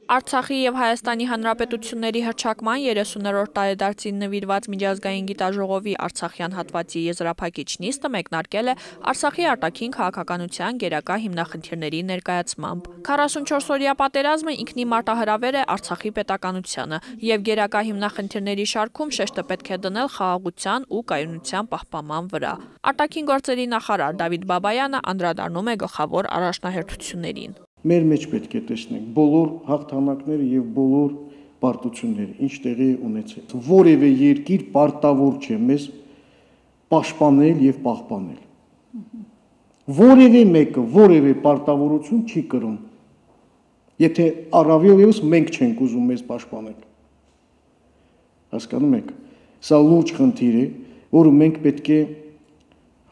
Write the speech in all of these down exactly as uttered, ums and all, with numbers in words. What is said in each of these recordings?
Արցախի և Հայաստանի Հանրապետությունների հռչակման երեսուններորդ տարեդարձին նվիրված միջազգային գիտաժողովի արցախյան հատվածի եզրափակիչ նիստը մեկնարկել է Արցախի արտաքին քաղաքականության գերակա հիմնախնդիրների ներկայացմամբ։ քառասունչորսօրյա պատերազմը ինքնին մարտահրավեր է Արցախի պետականությանը և գերակա հիմնախնդիրների շարքում շեշտը պետք է դնել խաղաղության ու կայունության պահպանման վրա։ Արտաքին գործերի նախարար Դավիթ Բաբայանը անդրադառնում է գլխավոր առաջնահերթություններին։ Մեր մեջ պետք է տեսնենք բոլոր հաղթանակները եւ բոլոր պարտությունները, ինչ տեղի ունեցել։ Որևէ երկիր պարտավոր չէ մեզ պաշտպանել եւ պահպանել։ Որևէ մեկը որևէ պարտավորություն չի կրում, եթե առավել եւս մենք չենք ուզում մեզ պաշտպանել։ Հասկանում եք, սա լուրջ խնդիր է, որը մենք պետք է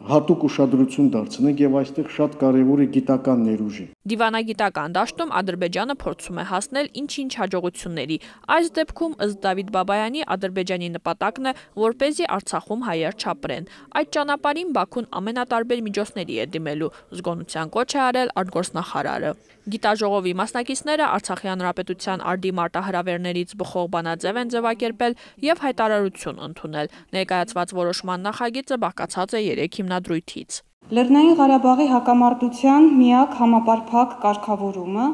հատուկ ուշադրություն դարձնենք եւ այստեղ շատ կարեւոր է գիտական ներուժը։ Դիվանագիտական դաշտում Ադրբեջանը փորձում է հասնել ինչ-ինչ հաջողությունների։ Այս դեպքում ըստ Դավիթ Բաբայանի Ադրբեջանի նպատակն է, որպեսզի Արցախում հայեր չապրեն։ Այդ ճանապարհին Բաքուն ամենատարբեր միջոցների է դիմելու, զգոնության կոչ է արել արտգործնախարարը։ Գիտաժողովի մասնակիցները Արցախի հանրապետության արդի մարտահրավերներից բխող բանաձև են ձևակերպել եւ հայտարարություն ընդունել։ Ներկայացված որոշման նախագիծը բաղկացած է երեք հիմնադրույթից։ Լեռնային Ղարաբաղի հակամարտության միակ համապարփակ կարգավորումը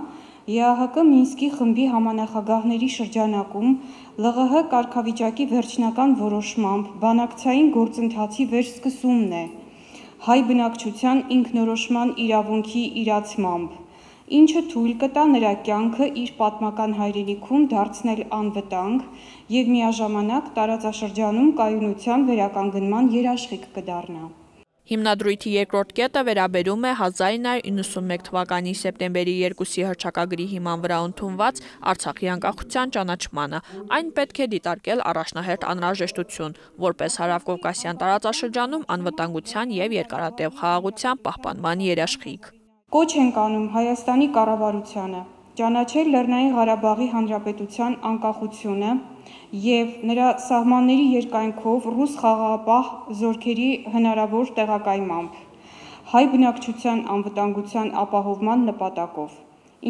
Է Ա Հ Կ Մինսկի խմբի համանախագահների շրջանակում Լ Ղ Հ կարգավիճակի վերջնական որոշմամբ բանակցային գործընթացի վերսկսումն է հայ բնակչության ինքնորոշման իրավունքի իրացմամբ, ինչը թույլ կտա նրա կյանքը իր պատմական հայրենիքում դարձնել անվտանգ եւ միաժամանակ տարածաշրջանում կայունության վերականգնման երաշխիք կդառնա։ Հիմնադրույթի երկրորդ կետը վերաբերում է հազար ինը հարյուր իննսունմեկ թվականի սեպտեմբերի երկուսի հռչակագրի հիման վրա ընդունված Արցախի անկախության ճանաչմանը։ Այն պետք է դիտարկել առաջնահերթ անհրաժեշտություն, որպես հարավկովկասյան տարածաշրջանում անվտանգության եւ երկարատև խաղաղության պահպանման երաշխիք։ Կոչ ենք անում Հայաստանի կառավարությանը ճանաչել Լեռնային Ղարաբաղի Հանրապետության անկախությունը եւ նրա սահմանների երկայնքով ռուս խաղաղապահ զորքերի հնարավոր տեղակայմամբ հայ բնակչության անվտանգության ապահովման նպատակով,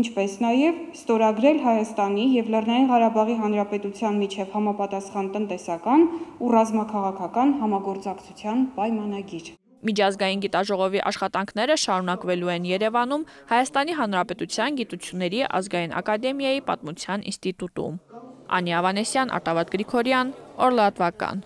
ինչպես նաեւ ստորագրել Հայաստանի եւ Լեռնային Ղարաբաղի Հանրապետության միջև համապատասխան տնտեսական ու ռազմաքաղաքական համագործակցության պայմանագիր։ Միջազգային գիտաժողովի աշխատանքները շարունակվելու են Երևանում Հայաստանի Հանրապետության Գիտությունների ազգային ակադեմիայի պատմության ինստիտուտում։ Անի Ավանեսյան, Արտավատ Գրիգորյան, Օրլատվական։